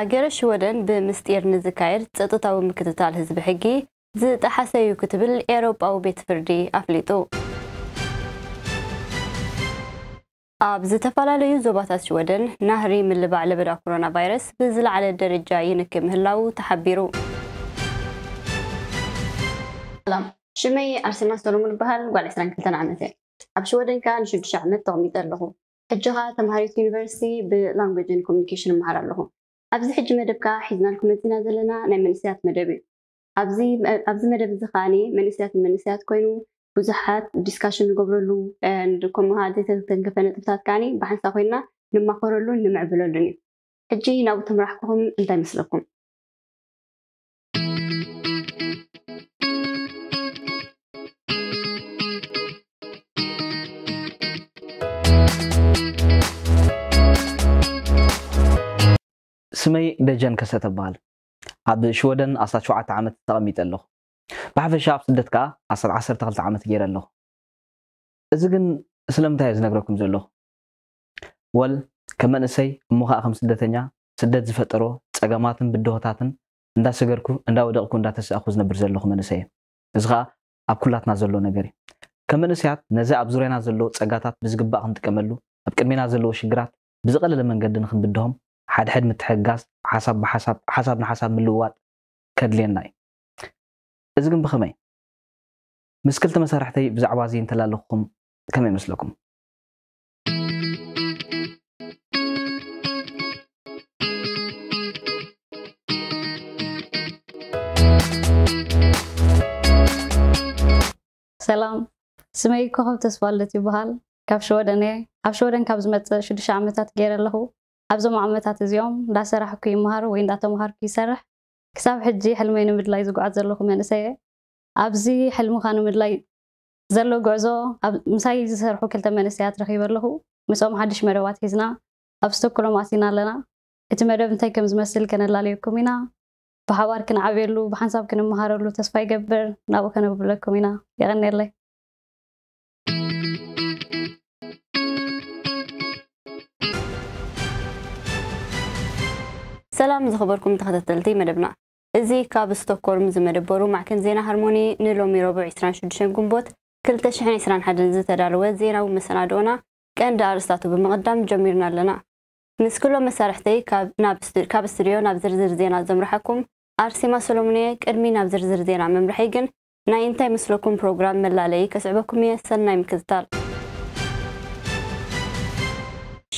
ሃገረ ሽወደን ብምስጢር ንዝካየድ ጸጥታዊ ምክትታል ህዝቢ ሕጊ ዝጠሓሰ እዩ ክትብል ኤውሮጳዊ ቤት ፍርዲ ኣፍሊጡ። ኣብ ዝተፈላለዩ ዞባታት ሽወደን ናህሪ ምልባዕ ለበዳ ኮሮና ቫይረስ ብዝለዓለ ደረጃ ይንኪ ምህላዉ ተሓቢሩ። ሰላም፣ ሽመይ ኣርሴማ ሰሎሞን ይበሃል። ጓል ዕስራን ክልተን ዓመት እየ። ኣብ ሽወደን ከኣ ንሽዱሽተ ዓመት ተቐሚጠ ኣለኹ። ሕጂ ከኣ ተምሃሪት ዩኒቨርሲቲ ብላንጉጅን ኮሚኒኬሽን እመሃር ኣለኹ። ኣብዚ ሕጂ መደብ ከኣ ሒዝናልኩም መጺና ዘለና ናይ መንእሰያት መደብ እዩ። ኣብዚ ኣብዚ መደብ እዚ ከኣ መንእሰያት ንመንእሰያት ኮይኑ ብዙሓት ዲስካሽን ንገብረሉ፣ ከምኡ ከኣ ዘይተተንከፈ ነጥብታት ከኣ ብሓንሳብ ኮይና ንማኸረሉን ንምዕብለሉን እዩ። ሕጂ ናብኡ ተምራሕኩኹም እንታይ መስለኩም? ስመይ ደጀን ከሰተ እበሃል። ኣብ ሽወደን ኣስታት ሸውዓተ ዓመት ተቐሚጠ ኣለኹ። ብሓፈሻ ኣብ ስደት ከኣ ኣስታት ዓሰርተ ክልተ ዓመት ገይረ ኣለኹ። እዚ ግን ስለምንታይ እየ ዝነግረኩም ዘለኹ? ወል ከም መንእሰይ እሞ ከኣ ከም ስደተኛ ስደት ዝፈጠሮ ጸገማትን ብድሆታትን እንዳሰገርኩ እንዳወደቕኩ እንዳተሳእኩ ዝነብር ዘለኹ መንእሰይ እየ። እዚ ከኣ ኣብ ኩላትና ዘሎ ነገር እዩ። ከም መንእሰያት ነዚ ኣብ ዙርያና ዘሎ ጸጋታት ብዝግባእ ክንጥቀመሉ፣ ኣብ ቅድሜና ዘለዉ ሽግራት ብዝቐለለ መንገዲ ንኽንብድሆም ሓድሕድ ምትሕግጋዝ፣ ሓሳብ ብሓሳብ፣ ሓሳብ ንሓሳብ ምልውዋጥ ከድልየና እዩ። እዚ ግን ብኸመይ? ምስ ክልተ መሳርሕተይ ብዛዕባ እዚ እንተላለኹኹም ከመይ ይመስለኩም? ሰላም፣ ስመይ ኮኸብ ተስፋልደት ይበሃል። ካብ ሽወደን እየ። ኣብ ሽወደን ካብ ዝመጽእ ሽዱሽተ ዓመታት ገይረ ኣለኹ። ኣብዞም ዓመታት እዚኦም እንዳሰራሕኩ ይመሃር ወይ እንዳተምሃርኩ ይሰርሕ። ክሳብ ሕጂ ሕልመይ ንምድላይ ዝጓዓዝ ዘለኹ መንእሰይ እየ። ኣብዚ ሕልምኻ ንምድላይ ዘሎ ጉዕዞ ኣብ ምሳይ ዝሰርሑ ክልተ መንእሰያት ረኺበ ኣለኹ። ምስኦም ሓድሽ መደባት ሒዝና ኣብ ስቶክሆልም ኣቲና ኣለና። እቲ መደብ እንታይ ከም ዝመስል ከነላለየኩም ኢና። ብሓባር ክንዓብየሉ፣ ብሓንሳብ ክንመሃረሉ ተስፋ ይገብር። ናብኡ ከነብለኩም ኢና። የቐንየለይ። ሰላም ዝኸበርኩም ተኸታተልቲ መደብና። እዚ ካብ ስቶክሆልም ዝመደበሩ ማዕከን ዜና ሃርሞኒ ንሎሚ ረቡዕ ዕስራን ሽዱሽተን ግንቦት ክልተ ሽሕን ዕስራን ሓደን ዝተዳለወ ዜናዊ መሰናድኦና ቀንዲ ኣርእስታቱ ብምቕዳም ጀሚርና ኣለና። ምስ ኩሎም መሳርሕተይ ካብ ናብ ስቱ- ካብ ስቱድዮ ናብ ዝርዝር ዜና ዘምርሓኩም ኣርሴማ ሰሎሞን እየ። ቅድሚ ናብ ዝርዝር ዜና ምምርሐይ ግን ናይ እንታይ መስለኩም ፕሮግራም መላለዪ ከስዕበኩም እየ። ሰናይ ምክትታል።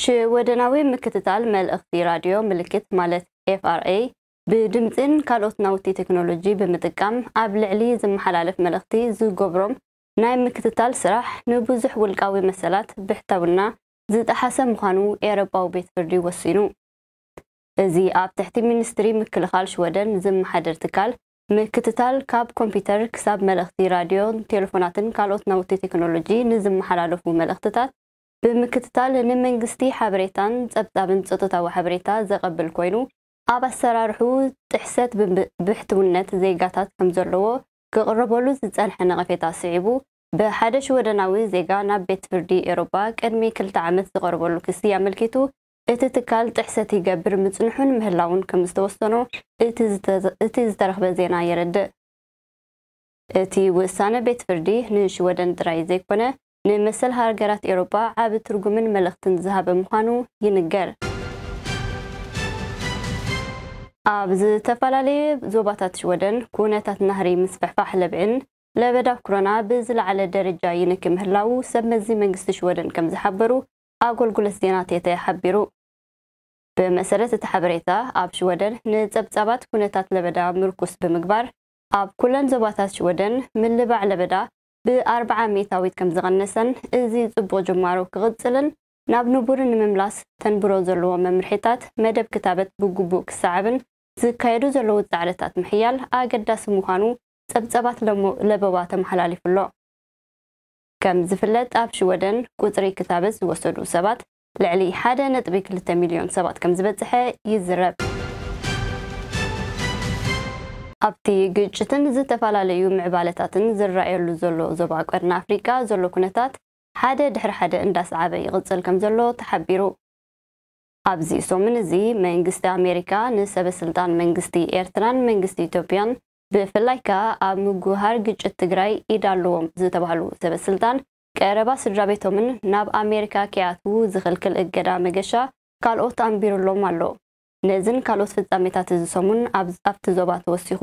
ሽወደናዊ ምክትታል መልእኽቲ ራድዮ ምልክት ማለት ኤፍ ኣር ኤ ብድምጺን ካልኦት ናውቲ ቴክኖሎጂ ብምጥቃም ኣብ ልዕሊ ዝመሓላለፍ መልእኽቲ ዝገብሮም ናይ ምክትታል ስራሕ ንብዙሕ ውልቃዊ መሰላት ብሕታውና ዝጠሓሰ ምዃኑ ኤውሮጳዊ ቤት ፍርዲ ወሲኑ። እዚ ኣብ ትሕቲ ሚኒስትሪ ምክልኻል ሽወደን ዝመሓደር ትካል ምክትታል ካብ ኮምፒተር ክሳብ መልእኽቲ ራድዮን ቴሌፎናትን ካልኦት ናውቲ ቴክኖሎጂ ንዝመሓላለፉ መልእኽትታት ብምክትታል ንመንግስቲ ሓበሬታን ጸብጻብን ጸጥታዊ ሓበሬታ ዘቐብል ኮይኑ ኣብ ኣሰራርሑ ጥሕሰት ብሕትውነት ዜጋታት ከምዘለዎ ክቕረበሉ ዝጸንሐ ነቐፌታ ስዒቡ ብሓደ ሽወደናዊ ዜጋ ናብ ቤት ፍርዲ ኤውሮጳ ቅድሚ ክልተ ዓመት ዝቐረበሉ ክሲ ኣመልኪቱ እቲ ትካል ጥሕሰት ይገብር ምጽንሑን ምህላዉን ከምዝተወሰኖ እቲ ዝተረኽበ ዜና የረድእ። እቲ ውሳነ ቤት ፍርዲ ንሽወደን ጥራይ ዘይኮነ ንመሰል ሃገራት ኤውሮጳ ዓቢ ትርጉምን መልእኽትን ዝሃበ ምዃኑ ይንገር። ኣብ ዝተፈላለየ ዞባታት ሽወደን ኩነታት ናህሪ ምስፍሕፋሕ ለብዒን ለበዳ ኮሮና ብዝለዓለ ደረጃ ይንኪ ምህላዉ ሰብ መዚ መንግስቲ ሽወደን ከም ዝሓበሩ ኣገልግሎት ዜና ቴተ ሓቢሩ። ብመሰረት እቲ ሓበሬታ ኣብ ሽወደን ንጸብጻባት ኩነታት ለበዳ ምርኩስ ብምግባር ኣብ ኩለን ዞባታት ሽወደን ምልባዕ ለበዳ ብኣርብዓ ሚእታዊት ከም ዝቐነሰን እዚ ጽቡቕ ጅማሮ ክቕጽልን ናብ ንቡር ንምምላስ ተንብሮ ዘለዎ መምርሒታት መደብ ክታበት ብግቡእ ክሰዓብን ዝካየዱ ዘለዉ ጻዕርታት ምሕያል ኣገዳሲ ምዃኑ ጸብጸባት ለበዋ ተመሓላሊፉ ኣሎ። ከም ዝፍለጥ ኣብ ሽወደን ቁጽሪ ክታበት ዝወሰዱ ሰባት ልዕሊ ሓደ ነጥቢ ክልተ ሚልዮን ሰባት ከም ዝበጽሐ ይዝረብ። ኣብቲ ግጭትን ዝተፈላለዩ ምዕባለታትን ዝረኣየሉ ዘሎ ዞባ ቀርኒ ኣፍሪቃ ዘሎ ኩነታት ሓደ ድሕሪ ሓደ እንዳሰዓበ ይቕጽል ከም ዘሎ ተሓቢሩ። ኣብዚ ሰሙን እዚ መንግስቲ ኣሜሪካ ንሰበ ስልጣን መንግስቲ ኤርትራን መንግስቲ ኢትዮጵያን ብፍላይ ከኣ ኣብ ምጉሃር ግጭት ትግራይ ኢድ ኣለዎም ዝተባህሉ ሰበ ስልጣን ቀረባ ስድራ ቤቶምን ናብ ኣሜሪካ ከይኣትዉ ዝኽልክል እገዳ መገሻ ካልኦት ኣንቢሩሎም ኣሎ። ነዝን ካልኦት ፍጻሜታት እዚ ሰሙን ኣብ ኣብቲ ዞባ ተወሲኹ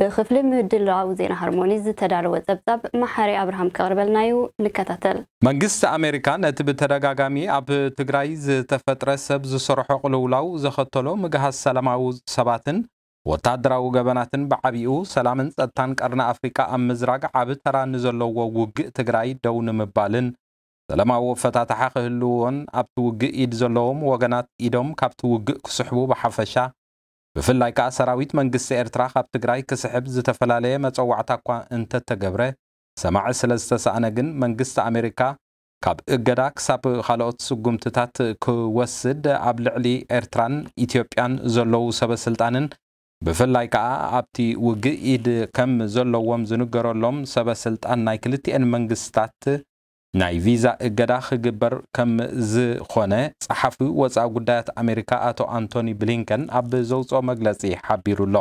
ብክፍሊ ምድላው ዜና ሃርሞኒ ዝተዳለወ ጸብጻብ መሓሪ ኣብርሃም ከቕርበልና እዩ። ንከታተል። መንግስቲ ኣሜሪካ ነቲ ብተደጋጋሚ ኣብ ትግራይ ዝተፈጥረ ሰብ ዝሰርሖ ቅልውላው ዘኸተሎ ምግሃስ ሰላማዊ ሰባትን ወታደራዊ ገበናትን ብዓቢኡ ሰላምን ጸጥታን ቀርኒ ኣፍሪቃ ኣብ ምዝራግ ዓቢ ተራ ንዘለዎ ውግእ ትግራይ ደው ንምባልን ሰላማዊ ኣፈታትሓ ክህልዎን ኣብቲ ውግእ ኢድ ዘለዎም ወገናት ኢዶም ካብቲ ውግእ ክስሕቡ ብሓፈሻ ብፍላይ ከኣ ሰራዊት መንግስቲ ኤርትራ ካብ ትግራይ ክስሕብ ዝተፈላለየ መጸዋዕታ እኳ እንተተገብረ ሰማዒ ስለ ዝተሳእነ ግን መንግስቲ ኣሜሪካ ካብ እገዳ ክሳብ ካልኦት ስጉምትታት ክወስድ ኣብ ልዕሊ ኤርትራን ኢትዮጵያን ዘለዉ ሰበ ስልጣንን ብፍላይ ከኣ ኣብቲ ውግእ ኢድ ከም ዘለዎም ዝንገረሎም ሰበ ስልጣን ናይ ክልቲኤን መንግስታት ናይ ቪዛ እገዳ ክግበር ከም ዝኾነ ጸሓፊ ወጻኢ ጉዳያት ኣሜሪካ ኣቶ ኣንቶኒ ብሊንከን ኣብ ዘውጽኦ መግለጺ ሓቢሩ ኣሎ።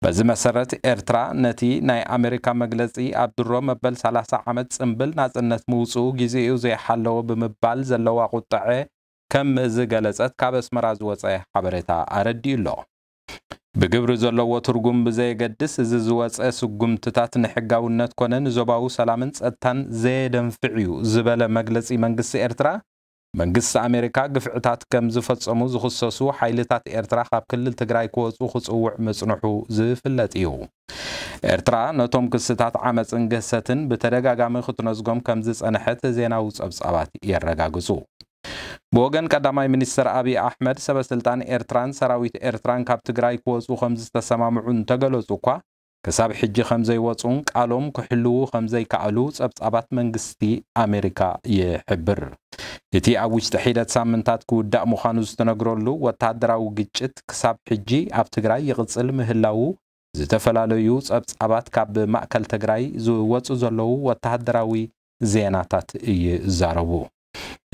በዚ መሰረት ኤርትራ ነቲ ናይ ኣሜሪካ መግለጺ ኣብ ድሮ መበል ሰላሳ ዓመት ጽምብል ናጽነት ምውጽኡ ግዜኡ ዘይሓለወ ብምባል ዘለዋ ቁጥዐ ከም ዝገለጸት ካብ ኣስመራ ዝወጸ ሓበሬታ ኣረዲኡ ኣሎ። ብግብሪ ዘለዎ ትርጉም ብዘየገድስ እዚ ዝወጸ ስጉምትታት ንሕጋውነት ኮነ ንዞባዊ ሰላምን ጸጥታን ዘየደንፍዕ እዩ ዝበለ መግለጺ መንግስቲ ኤርትራ መንግስቲ ኣሜሪካ ግፍዕታት ከም ዝፈጸሙ ዝኽሰሱ ሓይልታት ኤርትራ ካብ ክልል ትግራይ ክወጹ ክጽውዕ ምጽንሑ ዝፍለጥ እዩ። ኤርትራ ነቶም ክስታት ዓመጽን ግህሰትን ብተደጋጋሚ ክትነዝጎም ከም ዝጸንሐት ዜናዊ ጸብጻባት የረጋግጹ። ብወገን ቀዳማይ ሚኒስትር ኣብይ ኣሕመድ ሰበ ስልጣን ኤርትራን ሰራዊት ኤርትራን ካብ ትግራይ ክወጹ ከም ዝተሰማምዑ እንተገለጹ እኳ ክሳብ ሕጂ ከም ዘይወጹን ቃሎም ክሕልዉ ከም ዘይከኣሉ ጸብጻባት መንግስቲ ኣሜሪካ ይሕብር። እቲ ኣብ ውሽጢ ሒደት ሳምንታት ክውዳእ ምዃኑ ዝተነግረሉ ወተሃደራዊ ግጭት ክሳብ ሕጂ ኣብ ትግራይ ይቕጽል ምህላዉ ዝተፈላለዩ ጸብጻባት ካብ ማእከል ትግራይ ዝወጹ ዘለዉ ወተሃደራዊ ዜናታት ይዛረቡ።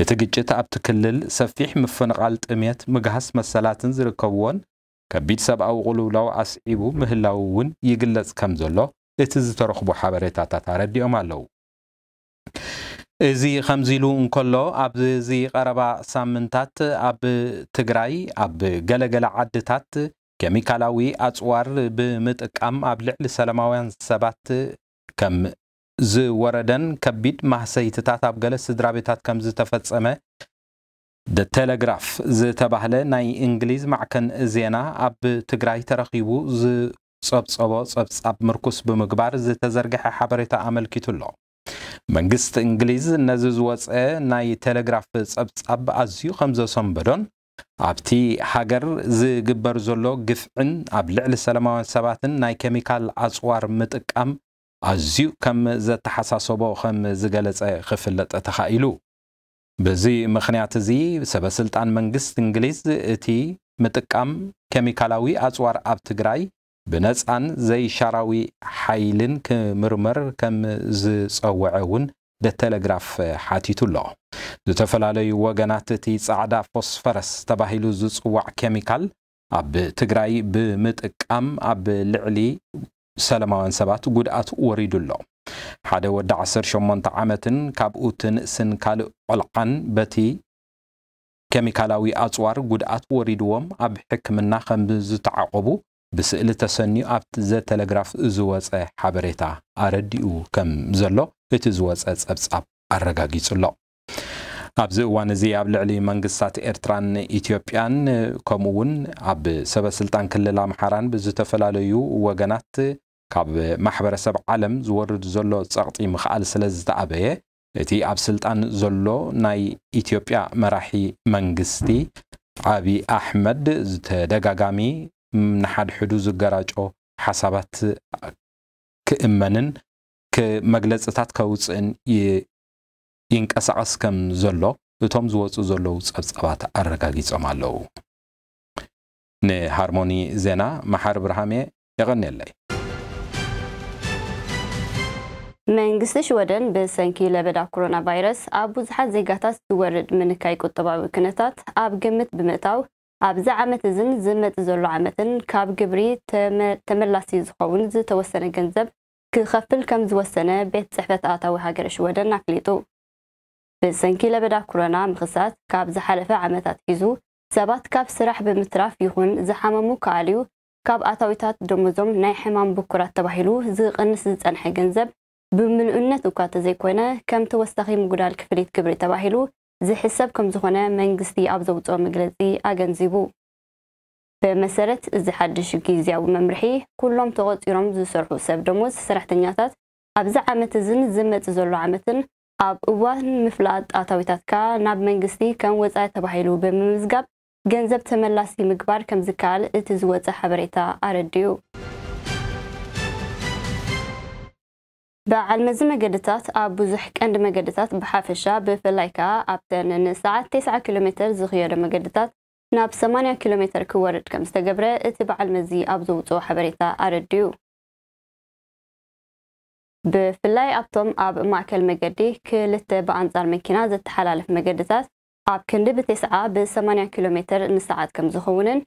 እቲ ግጭት ኣብቲ ክልል ሰፊሕ ምፍንቓል፣ ጥሜት፣ ምግሃስ መሰላትን ዝርከብዎን ከቢድ ሰብኣዊ ቅልውላው ኣስዒቡ ምህላዉ እውን ይግለጽ ከም ዘሎ እቲ ዝተረኽቡ ሓበሬታታት ኣረዲኦም ኣለዉ። እዚ ከምዚ ኢሉ እንከሎ ኣብዚ ቀረባ ሳምንታት ኣብ ትግራይ ኣብ ገለገለ ዓድታት ኬሚካላዊ ኣጽዋር ብምጥቃም ኣብ ልዕሊ ሰላማውያን ሰባት ከም ዝወረደን ከቢድ ማህሰይትታት ኣብ ገለ ስድራ ቤታት ከም ዝተፈጸመ ደ ቴሌግራፍ ዝተባህለ ናይ እንግሊዝ ማዕከን ዜና ኣብ ትግራይ ተረኺቡ ዝጸብጸቦ ጸብጻብ ምርኩስ ብምግባር ዝተዘርግሐ ሓበሬታ ኣመልኪቱ ኣሎ። መንግስቲ እንግሊዝ ነዚ ዝወጸ ናይ ቴሌግራፍ ጸብጻብ ኣዝዩ ከም ዘሰንበዶን ኣብቲ ሃገር ዝግበር ዘሎ ግፍዕን ኣብ ልዕሊ ሰላማውያን ሰባትን ናይ ኬሚካል ኣጽዋር ምጥቃም ኣዝዩ ከም ዘተሓሳሰቦ ከም ዝገለጸ ክፍለጥ ተኻኢሉ። በዚ ምኽንያት እዚ ሰበ ስልጣን መንግስቲ እንግሊዝ እቲ ምጥቃም ኬሚካላዊ ኣጽዋር ኣብ ትግራይ ብነጻን ዘይሻራዊ ሓይልን ክምርመር ከም ዝጸወዐ እውን ደ ቴሌግራፍ ሓቲቱ ኣሎ። ዝተፈላለዩ ወገናት እቲ ጻዕዳ ፎስፈረስ ተባሂሉ ዝጽዋዕ ኬሚካል ኣብ ትግራይ ብምጥቃም ኣብ ልዕሊ ሰላማውያን ሰባት ጉድኣት ወሪዱ ኣሎ። ሓደ ወዲ ዓሰርተ ሸሞንተ ዓመትን ካብኡ እቲ ንእስን ካልእ ቆልዓን በቲ ኬሚካላዊ ኣጽዋር ጉድኣት ወሪድዎም ኣብ ሕክምና ከም ዝተዓቆቡ ብስእሊ ተሰንዩ ኣብቲ ዘ ቴሌግራፍ ዝወጸ ሓበሬታ ኣረዲኡ ከም ዘሎ እቲ ዝወጸ ጸብጻብ ኣረጋጊጹ ኣሎ። ኣብዚ እዋን እዚ ኣብ ልዕሊ መንግስታት ኤርትራን ኢትዮጵያን ከምኡ እውን ኣብ ሰበ ስልጣን ክልል ኣምሓራን ብዝተፈላለዩ ወገናት ካብ ማሕበረሰብ ዓለም ዝወርድ ዘሎ ጸቕጢ ምኽኣል ስለ ዝተኣበየ እቲ ኣብ ስልጣን ዘሎ ናይ ኢትዮጵያ መራሒ መንግስቲ ዓቢ ኣሕመድ ዝተደጋጋሚ ንሓድሕዱ ዝገራጮ ሓሳባት ክእመንን መግለጽታት ከውጽእን ይንቀሳቐስ ከም ዘሎ እቶም ዝወጹ ዘለዉ ጸብጻባት ኣረጋጊጾም ኣለዉ። ንሃርሞኒ ዜና መሓሪ ብርሃሜ የቐንየለይ። መንግስቲ ሽወደን ብሰንኪ ለበዳ ኮሮና ቫይረስ ኣብ ብዙሓት ዜጋታት ዝወርድ ምንካይ ቁጠባዊ ኩነታት ኣብ ግምት ብምእታው፣ ኣብዚ ዓመት እዝን ዝመጽእ ዘሎ ዓመትን ካብ ግብሪ ተመ-፣ ተመላሲ ዝኸውን ዝተወሰነ ገንዘብ ክኸፍል ከም ዝወሰነ ቤት ጽሕፈት ኣታዊ ሃገረ ሽወደን ኣፍሊጡ። ብሰንኪ ለበዳ ኮሮና ምኽሳት፣ ካብ ዝሓለፈ ዓመታት ሒዙ ሰባት ካብ ስራሕ ብምትራፍ ይኹን ዝሓመሙ ክኣልዩ፣ ካብ ኣታዊታት ደሞዞም ናይ ሕማም ብኩራት ተባሂሉ ዝቕንስ ዝጸንሐ ገንዘብ ብምልኡነት እኳ ተዘይኮነ፣ ከም ተወሳኺ ምጉዳል ክፍሊት ግብሪ ተባሂሉ ዝሕሰብ ከም ዝኾነ መንግስቲ ኣብ ዘውጽኦ መግለጺ ኣገንዚቡ። ብመሰረት እዚ ሓድሽ ግዝያዊ መምርሒ፣ ኩሎም ተቖጺሮም ዝሰርሑ ሰብ ደሞዝ ሰራሕተኛታት ኣብዚ ዓመት እዝን ዝመጽእ ዘሎ ዓመትን ኣብ እዋን ምፍላጥ ኣታዊታትካ ናብ መንግስቲ ከም ወጻኢ ተባሂሉ ብምምዝጋብ ገንዘብ ተመላሲ ምግባር ከም ዝከኣል እቲ ዝወጸ ሓበሬታ ኣረዲኡ። በዓል መዚ መገድታት ኣብ ብዙሕ ቀንዲ መገድታት ብሓፈሻ፣ ብፍላይ ከኣ ኣብተን ንሰዓት ተስዓ ኪሎ ሜተር ዝኽየዶ መገድታት ናብ ሰማንያ ኪሎ ሜተር ክወርድ ከም ዝተገብረ እቲ በዓል መዚ ኣብ ዘውጽኦ ሓበሬታ ኣረዲኡ። ብፍላይ ኣብቶም ኣብ ማእከል መገዲ ክልተ ብኣንጻር መኪና ዘተሓላልፍ መገድታት፣ ኣብ ክንዲ ብተስዓ ብ ሰማንያ ኪሎ ሜተር ንሰዓት ከም ዝኸውንን፣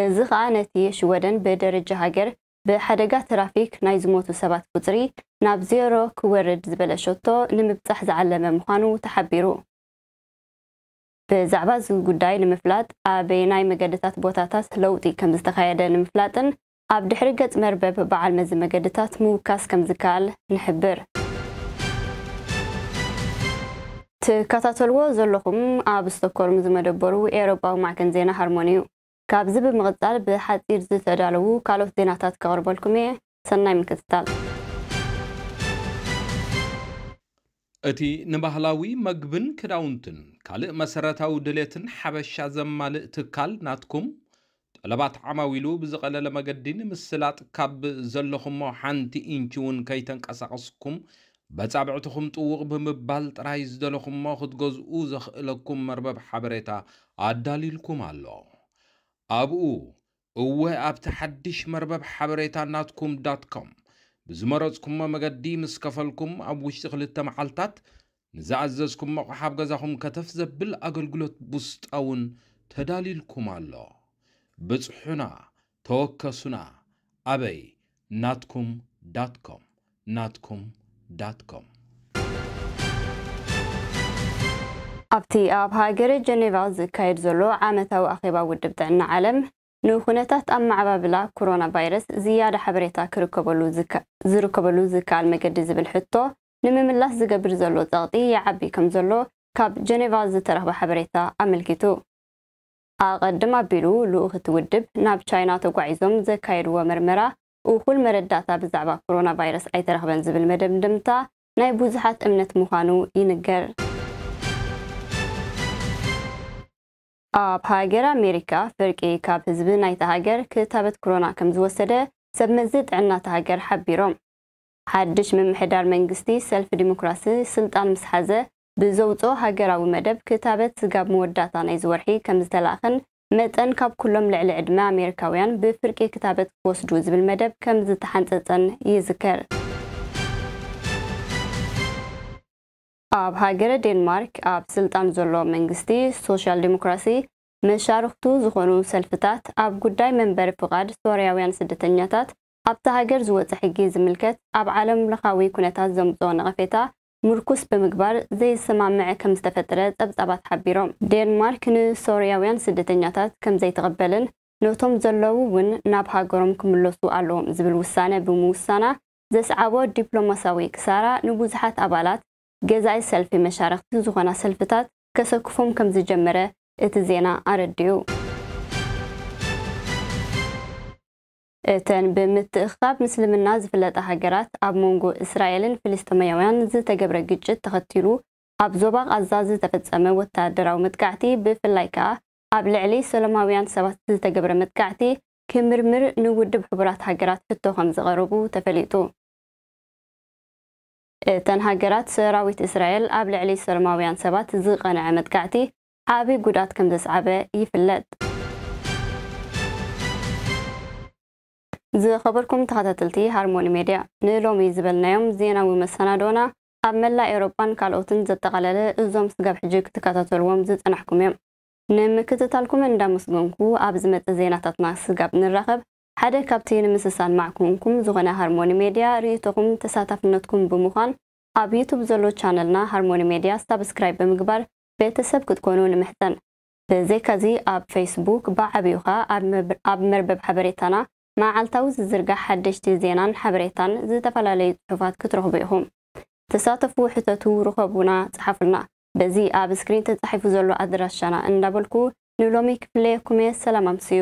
እዚ ኸኣ ነቲ ሽወደን ብደረጃ ሃገር ብሓደጋ ትራፊክ ናይ ዝሞቱ ሰባት ቁጽሪ ናብ ዜሮ ክወርድ ዝበለ ሸቶ ንምብጻሕ ዝዓለመ ምዃኑ ተሓቢሩ። ብዛዕባ እዚ ጉዳይ ንምፍላጥ፣ ኣበየናይ መገድታት ቦታታት ለውጢ ከም ዝተኻየደ ንምፍላጥን ኣብ ድሕሪ ገጽ መርበብ በዓል መዚ መገድታት ምውካስ ከም ዝከኣል ንሕብር። ትከታተልዎ ዘለኹም ኣብ ስቶኮልም ዝመደበሩ ኤውሮጳዊ ማዕከን ዜና ሃርሞኒ እዩ። ካብዚ ብምቕጻል ብሓጺር ዝተዳለዉ ካልኦት ዜናታት ከቕርበልኩም እየ። ሰናይ ምክትታል። እቲ ንባህላዊ መግብን ክዳውንትን ካልእ መሰረታዊ ድሌትን ሓበሻ ዘማልእ ትካል ናትኩም፣ ጠለባት ዓማዊሉ ብዝቐለለ መገዲ ንምስላጥ፣ ካብ ዘለኹሞ ሓንቲ ኢንች እውን ከይተንቀሳቐስኩም በጻብዕትኹም ጥውቕ ብምባል ጥራይ ዝደለኹሞ ክትገዝኡ ዘኽእለኩም መርበብ ሓበሬታ ኣዳልዩልኩም ኣሎ። ኣብኡ፣ እወ፣ ኣብቲ ሓድሽ መርበብ ሓበሬታ ናትኩም ዳት ኮም ብዝመረጽኩሞ መገዲ ምስ ከፈልኩም፣ ኣብ ውሽጢ ክልተ መዓልታት ንዝኣዘዝኩም ኣቕሓ ኣብ ገዛኹም ከተፍ ዘብል ኣገልግሎት ቡስጣ እውን ተዳልዩልኩም ኣሎ። ብጽሑና፣ ተወከሱና። ኣበይ? ናትኩም ዳት ኮም፣ ናትኩም ዳት ኮም። ኣብቲ ኣብ ሃገረ ጀኔቫ ዝካየድ ዘሎ ዓመታዊ ኣኼባ ውድብ ጥዕና ዓለም፣ ንኩነታት ኣመዓባብላ ኮሮና ቫይረስ ዝያዳ ሓበሬታ ክርከበሉ ዝከ-፣ ዝርከበሉ ዝከኣል መገዲ ዝብል ሕቶ ንምምላስ ዝገብር ዘሎ ጸቕጢ ይዓቢ ከም ዘሎ ካብ ጀኔቫ ዝተረኽበ ሓበሬታ ኣመልኪቱ። ኣቐድም ኣቢሉ፣ ልኡኽ እቲ ውድብ ናብ ቻይና ተጓዒዞም ዘካየድዎ መርመራ፣ እኹል መረዳእታ ብዛዕባ ኮሮና ቫይረስ ኣይተረኽበን ዝብል መደምደምታ ናይ ብዙሓት እምነት ምዃኑ ይንገር። ኣብ ሃገር ኣሜሪካ፣ ፍርቂ ካብ ህዝቢ ናይታ ሃገር ክታበት ኮሮና ከም ዝወሰደ ሰብ መዚ ጥዕና እታ ሃገር ሓቢሮም። ሓድሽ ምምሕዳር መንግስቲ ሰልፊ ዲሞክራሲ ስልጣን ምስ ሓዘ ብዘውፅኦ ሃገራዊ መደብ፣ ክታበት ስጋብ መወዳእታ ናይዚ ወርሒ ከም ዝተላእኸን መጠን ካብ ኩሎም ልዕሊ ዕድመ ኣሜሪካውያን ብፍርቂ ክታበት ክወስዱ ዝብል መደብ ከም ዝተሓንፀፀን ይዝከር። ኣብ ሃገረ ዴንማርክ ኣብ ስልጣን ዘሎ መንግስቲ ሶሻል ዲሞክራሲ፣ መሻርኽቱ ዝኾኑ ሰልፍታት ኣብ ጉዳይ መንበሪ ፍቓድ ሶርያውያን ስደተኛታት ኣብታ ሃገር ዝወፀ ሕጊ ዝምልከት ኣብ ዓለም ለኻዊ ኩነታት ዘምፅኦ ነቐፌታ ምርኩስ ብምግባር ዘይሰማምዕ ከም ዝተፈጠረ ጸብጻባት ሓቢሮም። ዴንማርክ ንሶርያውያን ስደተኛታት ከም ዘይትቕበልን ነቶም ዘለዉ እውን ናብ ሃገሮም ክምለሱ ኣለዎም ዝብል ውሳነ ብምውሳና ዘስዓቦ ዲፕሎማሲያዊ ክሳራ ንብዙሓት ኣባላት ገዛኢ ሰልፊ መሻርኽቲ ዝኾና ሰልፍታት ከሰክፎም ከም ዝጀመረ እቲ ዜና ኣረዲኡ። እተን ብምትእኽኻብ ምስልምና ዝፍለጣ ሃገራት ኣብ መንጎ እስራኤልን ፍልስጤማውያን ዝተገብረ ግጭት ተኸቲሉ ኣብ ዞባ ቃዛ ዝተፈጸመ ወታደራዊ መጥቃዕቲ፣ ብፍላይ ከኣ ኣብ ልዕሊ ሰላማውያን ሰባት ዝተገብረ መጥቃዕቲ ክምርምር ንውድብ ሕቡራት ሃገራት ሕቶ ከም ዘቐረቡ ተፈሊጡ። እተን ሃገራት፣ ሰራዊት እስራኤል ኣብ ልዕሊ ሰላማውያን ሰባት ዝቐንዐ መጥቃዕቲ ዓቢ ጉድኣት ከም ዘስዓበ ይፍለጥ። ዝኸበርኩም ተኸታተልቲ ሃርሞኒ ሜድያ፣ ንሎሚ ዝበልናዮም ዜናዊ መሰናዶና ኣብ መላእ ኤውሮጳን ካልኦትን ዘጠቓለለ እዞም ስጋብ ሕጂ ክትከታተልዎም ዝጸናሕኩም እዮም። ንምክትታልኩም እንዳመስገንኩ፣ ኣብ ዝመጽእ ዜናታትና ስጋብ ንራኸብ፣ ሓደ ካብቲ ንምስሳን ማዕኩንኩም ዝኾነ ሃርሞኒ ሜድያ ርእይቶኹም ተሳታፍነትኩም ብምዃን ኣብ ዩቱብ ዘሎ ቻነልና ሃርሞኒ ሜድያ ሳብስክራይብ ብምግባር ቤተሰብ ክትኮኑ ንምሕጸን። ብዘይካዚ ኣብ ፌስቡክ ብዓብዩኻ ኣብ መብ- ኣብ መርበብ ሓበሬታና መዓልታዊ ዝዝርጋሕ ሓደሽቲ ዜናን ሓበሬታን ዝተፈላለዩ ጽሑፋት ክትረኽቡ ኢኹም። ተሳተፉ፣ ሕተቱ፣ ርኸቡና፣ ጽሓፉልና። በዚ ኣብ ስክሪን ተጻሒፉ ዘሎ ኣድራሻና እንዳበልኩ ንሎሚ ክፍለየኩም እየ። ሰላም ኣምስዩ።